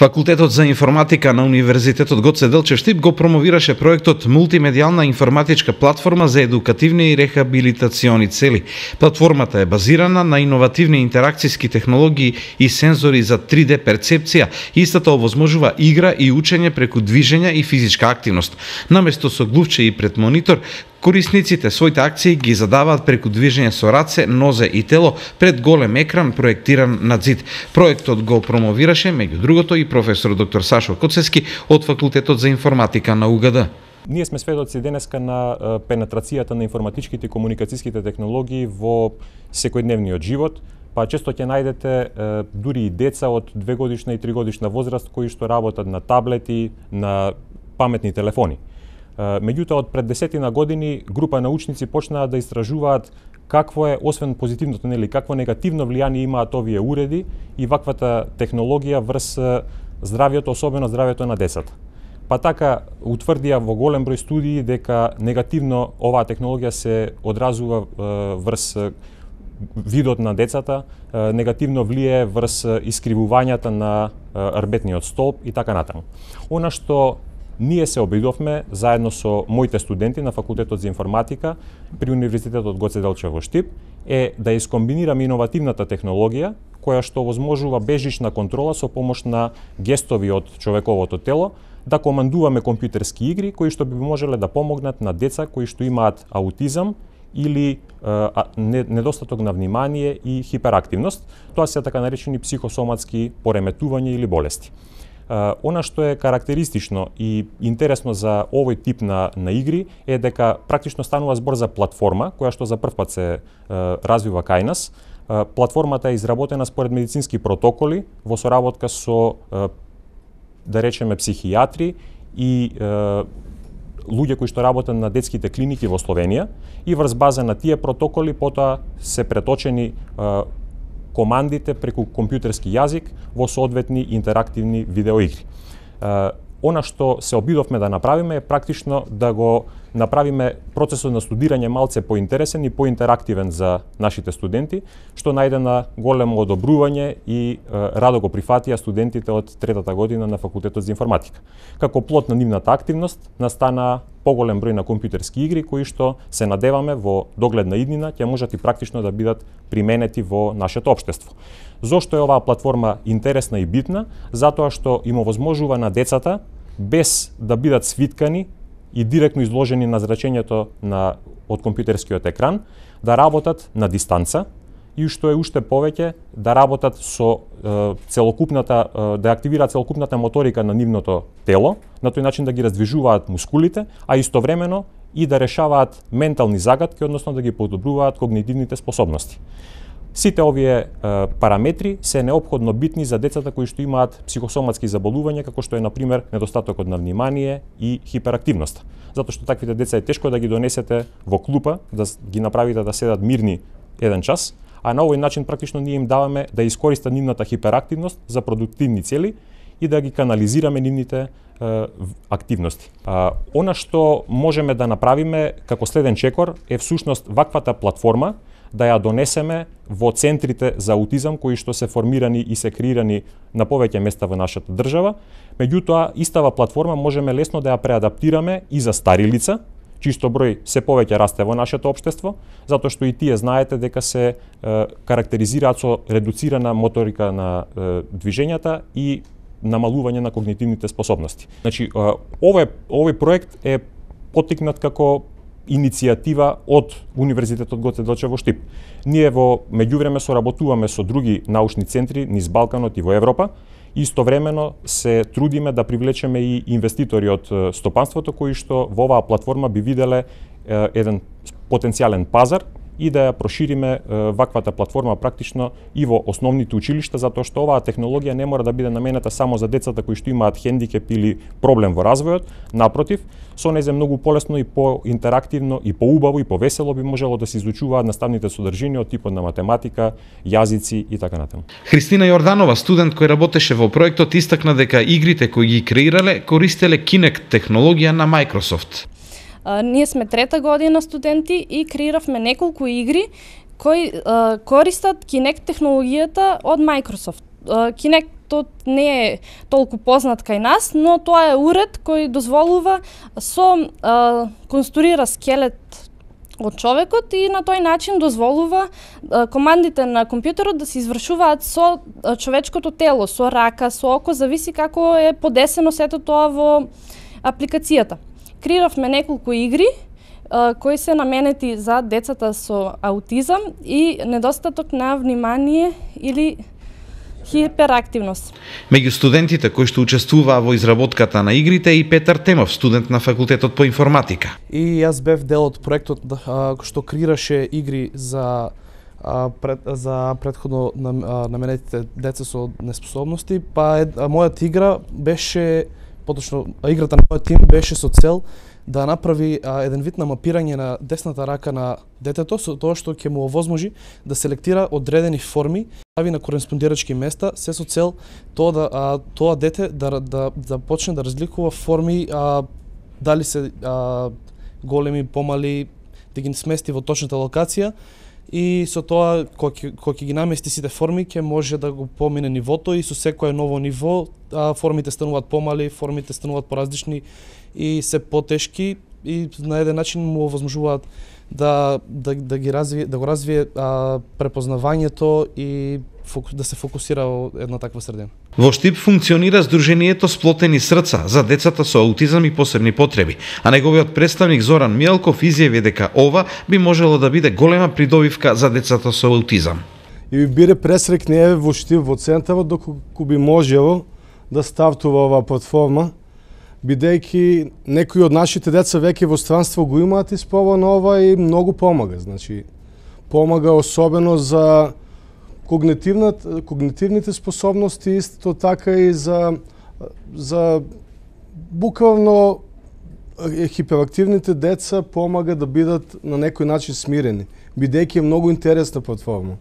Факултетот за информатика на Универзитетот Гоце Делчев Штип го промовираше проектот Мултимедијална информатичка платформа за едукативни и рехабилитациони цели. Платформата е базирана на иновативни интеракцијски технологии и сензори за 3D перцепција. Истата овозможува игра и учење преку движење и физичка активност. Наместо со глувче и пред монитор, корисниците своите акции ги задаваат преку движење со раце, нозе и тело пред голем екран проектиран на зид. Проектот го промовираше меѓу другото и професор доктор Сашо Коцевски од Факултетот за информатика на УГД. Ние сме сведоци денеска на пенетрацијата на информатичките и комуникацијските технологии во секојдневниот живот, па често ќе најдете дури и деца од 2-годишна и 3-годишна возраст кои што работат на таблети, на паметни телефони. Меѓутоа, од пред 10 години група научници почнаа да истражуваат какво е, освен позитивното, какво негативно влијание имаат овие уреди и ваквата технологија врз здравјето, особено здравјето на децата. Па така утврдија во голем број студии дека негативно оваа технологија се одразува врз видот на децата, негативно влијае врз искривувањата на рбетниот столб и така натаму. Она што ние се обидовме заедно со моите студенти на Факултетот за информатика при Универзитетот Гоце Делчев во Штип е да искомбинираме иновативната технологија која што овозможува безжична контрола со помош на гестови од човековото тело, да командуваме компјутерски игри кои што би можеле да помогнат на деца кои што имаат аутизам или недостаток на внимание и хиперактивност. Тоа се така наречени психосоматски пореметувања или болести. Она што е карактеристично и интересно за овој тип на игри е дека практично станува збор за платформа која што за прв пат се развива кај нас. Платформата е изработена според медицински протоколи во соработка со да речеме психијатри и луѓе кои што работат на детските клиники во Словенија и врз база на тие протоколи потоа се преточени командите преку компјутерски јазик во соодветни интерактивни видеоигри. Она што се обидовме да направиме е практично да го направиме процесот на студирање малце поинтересен и поинтерактивен за нашите студенти, што најде на големо одобрување и радо го прифатија студентите од третата година на Факултетот за информатика. Како плод на нивната активност настана поголем број на компјутерски игри кои што се надеваме во догледна иднина ќе можат и практично да бидат применети во нашето општество. Зошто е оваа платформа интересна и битна? Затоа што им овозможува на децата без да бидат свиткани и директно изложени на зрачењето од компјутерскиот екран, да работат на дистанца и што е уште повеќе да работат со целокупната, да активираат целокупната моторика на нивното тело, на тој начин да ги раздвижуваат мускулите, а истовремено и да решаваат ментални загадки, односно да ги подобруваат когнитивните способности. Сите овие параметри се неопходно битни за децата кои што имаат психосоматски заболувања, како што е, например, недостатокот на внимание и хиперактивноста. Затоа што таквите деца е тешко да ги донесете во клупа, да ги направите да седат мирни еден час, а на овој начин практично ние им даваме да искористат нивната хиперактивност за продуктивни цели и да ги канализираме нивните активности. Она што можеме да направиме како следен чекор е всушност ваквата платформа да ја донесеме во центрите за аутизам кои што се формирани и се креирани на повеќе места во нашата држава. Меѓутоа, истава платформа можеме лесно да ја преадаптираме и за стари лица, чисто број се повеќе расте во нашето општество, затоа што и тие знаете дека се карактеризираат со редуцирана моторика на движењата и намалување на когнитивните способности. Значи, овој проект е поттикнат како иницијатива од Универзитетот Гоце Делчев во Штип. Ние во меѓувреме соработуваме со други научни центри низ Балканот и во Европа. Истовремено се трудиме да привлечеме и инвеститори од стопанството кои што во оваа платформа би виделе еден потенцијален пазар и да ја прошириме ваквата платформа практично и во основните училишта, затоа што оваа технологија не мора да биде наменета само за децата кои што имаат хендикеп или проблем во развојот. Напротив, со незе многу полесно и поинтерактивно и поубаво и повесело би можело да се изучуваат наставните содржини од типот на математика, јазици и така натаму. Христина Јорданова, студент кој работеше во проектот, истакна дека игрите кои ги креирале користеле Kinect технологија на Microsoft. Ние сме трета година студенти и креиравме неколку игри кои користат Kinect технологијата од Microsoft. Kinect проектот не е толку познат кај нас, но тоа е уред кој дозволува конструира скелет од човекот и на тој начин дозволува командите на компјутерот да се извршуваат со човечкото тело, со рака, со око, зависи како е подесено сето тоа во апликацијата. Креиравме неколку игри кои се наменети за децата со аутизам и недостаток на внимание или хиперактивност. Меѓу студентите кои што учествуваа во изработката на игрите и Петар Темов, студент на факултетот по информатика. И јас бев дел од проектот што креираше игри за претходно наменетите деца со неспособности, па мојата игра беше, поточно играта на мојот тим беше со цел да направи еден вид на мапирање на десната рака на детето, со тоа што ќе му овозможи да селектира одредени форми, стави на кореспондирачки места, се со цел тоа дете да почне да разликува форми, дали се големи, помали, да ги смести во точната локација, и со тоа кога ќе ги намести сите форми ќе може да го помине нивото, и со секое ново ниво формите стануваат помали, формите стануваат поразлични и се потешки, и на еден начин му овозможуваат да го развие препознавањето и да се фокусира во една таква средина. Во Штип функционира Сдруженијето Сплотени срца за децата со аутизам и посебни потреби, а неговиот представник Зоран Мијалков изјави дека ова би можело да биде голема придобивка за децата со аутизам. И би биде пресрек не во Штип, во центарот, доколку би можело да стартува оваа платформа, бидејќи некои од нашите деца веќе во странство го имаат испробано ова и многу помага. Значи, помага особено за когнитивните способности, исто така и за буквално хиперактивните деца помага да бидат на некој начин смирени, бидејќи е многу интересна платформа.